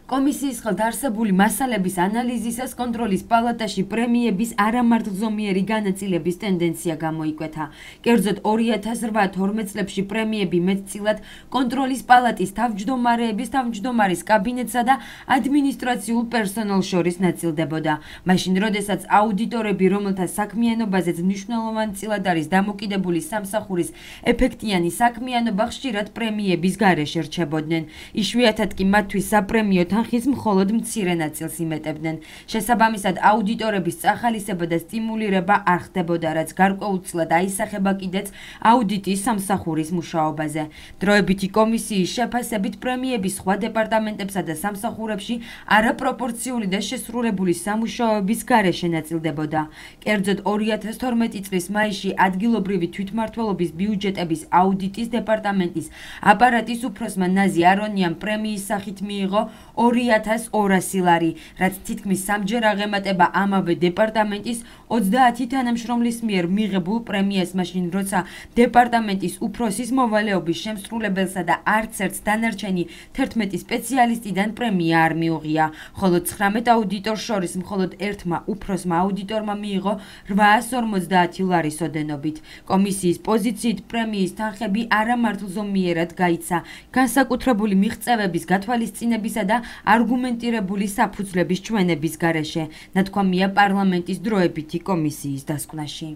კომისიის ხელდარსებული მასალების ანალიზისას კონტროლის პალატაში პრემიების არამართლზომიერი განაწილების ტენდენცია გამოიკვეთა. კერძოდ 2008-12 წლებში პრემიები მეტწილად კონტროლის პალატის თავმჯდომარეების, თავმჯდომარის კაბინეტსა და ადმინისტრაციულ პერსონალს შორის ნაწილდებოდა. მაშინ, როდესაც აუდიტორები, რომელთა საქმიანობაზეც მნიშვნელოვანწილად არის დამოკიდებული სამსახურის ეფექტიანი საქმიანობა, ხშირად პრემიების გარეშე რჩებოდნენ. იშვიათად კი მათთვის საპრემიო თანხის მხოლოდ მცირე ნაწილს იმეტებდნენ. შესაბამისად, აუდიტორების წახალისება და სტიმულირება არ ხდებოდა, რაც გარკვეულწილად აისახება კიდეც აუდიტის სამსახურის მუშაობაზე. დროებითი კომისიის შეფასებით პრემიები სხვა დეპარტამენტებსა და სამსახურებში არაპროპორციული და შესრულებული სამუშაოების გარეშე ნაწილდებოდა. კერძოდ 2012 წლის მაისში ადგილობრივი თვითმმართველობის ბიუჯეტების აუდიტის დეპარტამენტის აპარატის უფროსმა ნაზი არონიამ პრემიის სახით მიიღო 2200 ლარი, რაც თითქმის სამჯერ აღემატება ამავე დეპარტამენტის 30 თანამშრომლის მიერ მიღებულ პრემიას, მაშინ როცა დეპარტამენტის უფროსის მოვალეობის შემსრულებელსა და არც ერთ დანარჩენი 11 სპეციალისტიდან პრემია არ მიუღია, ხოლო 19 აუდიტორს შორის მხოლოდ ერთმა უფროსმა აუდიტორმა მიიღო 850 ლარის ოდენობით. კომისიის პოზიციით პრემიის თანხები არამართლზომიერად გაიცა განსაკუთრებული მიღწევების გათვალისწინებისა და არგუმენტირებული საფუძვლების ჩვენების გარეშე, ნათქვამია პარლამენტის დროებითი კომისიის დასკვნაში.